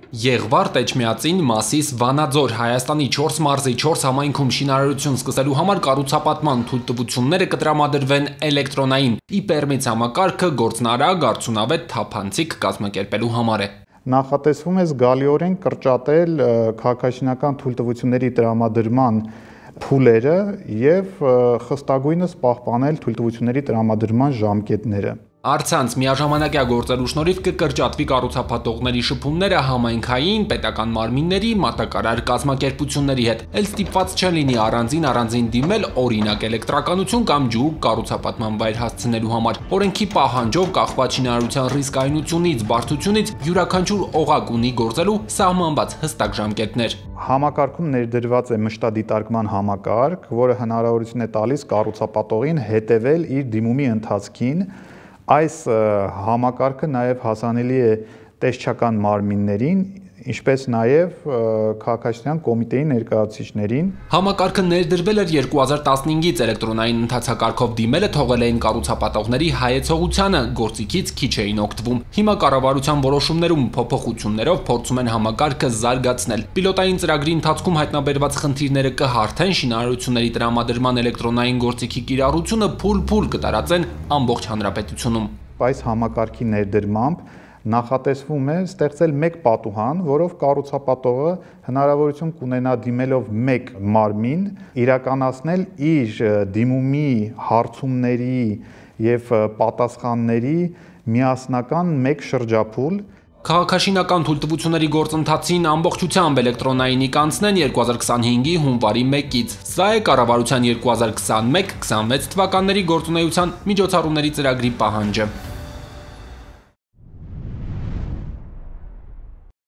Եղվարդ, Էջմիածին, Մասիս, Վանաձոր, Հայաստանի 4 մարզի 4 համայնքում շինարարություն սկսելու համար կառուցապատման թույլտվությունները կտրամադրվեն էլեկտրոնային, իպերմից համակարգը գործնարագ, արդյունավետ, թափանցիկ կազմակերպելու համար է։ Նախատեսվում է զգալիորեն կրճատել քաղաքաշինական թույլտվությունների տրամադրման փուլերը եւ խստագույնս պահպանել թույլտվությունների տրամադրման ժամկետները։ Առցանց միաժամանակյա գործելու շնորհիվ կկրճատվի կառուցապատողների շփումները համայնքային, պետական մարմինների, մատակարար կազմակերպությունների հետ, էլ ստիպված չեն լինի առանձին դիմել օրինակ էլեկտրականություն կամ ջուկ կառուցապատման վայր հասցնելու համար։ Օրենքի պահանջով կախված շինարարության ռիսկայնությունից, բարդությունից յուրաքանչյուր օղակ ունի գործելու սահմանված հստակ ժամկետներ։ Համակարգում ներդրված է մշտադիտարկման համակարգ, որը հնարավորություն է տալիս կառուցապատողին հետևել իր դիմումի ընթացքին։ Այս համակարգը նաև հասանելի է տեսչական մարմիններին, ինչպես նաև քաղաքաշինության կոմիտեի ներկայացուցիչներին։ Համակարգը ներդրվել էր 2015-ից, էլեկտրոնային ընթացակարգով դիմելը թողել էին կառուցապատողների հայեցողությանը, գործիքից քիչ էին օգտվում։ Հիմա կառավարության որոշումներում փոփոխություններով փորձում են համակարգը զարգացնել։ Պիլոտային ծրագրի ընթացքում հայտնաբերված խնդիրները կհարթեն, շինարարությունների տրամադրման էլեկտրոնային գործիքի կիրառությունը փուլ կտարածեն ամբողջ հանրապետությունում։ Այս համակարգի ներդրմամբ նախատեսվում է ստեղծել մեկ պատուհան, որով կառուցապատողը հնարավորություն կունենա դիմելով մեկ մարմին իրականացնել իր դիմումի հարցումների եւ պատասխանների միասնական մեկ շրջափուլ։ Քաղաքաշինական թույլտվությունների գործընթացին ամբողջությամբ էլեկտրոնայինի կանցնեն 2025-ի հունվարի 1-ից։ Սա է կառավարության 2021-26 թվականների գործունեության միջոցառումների ծրագրի պահանջը։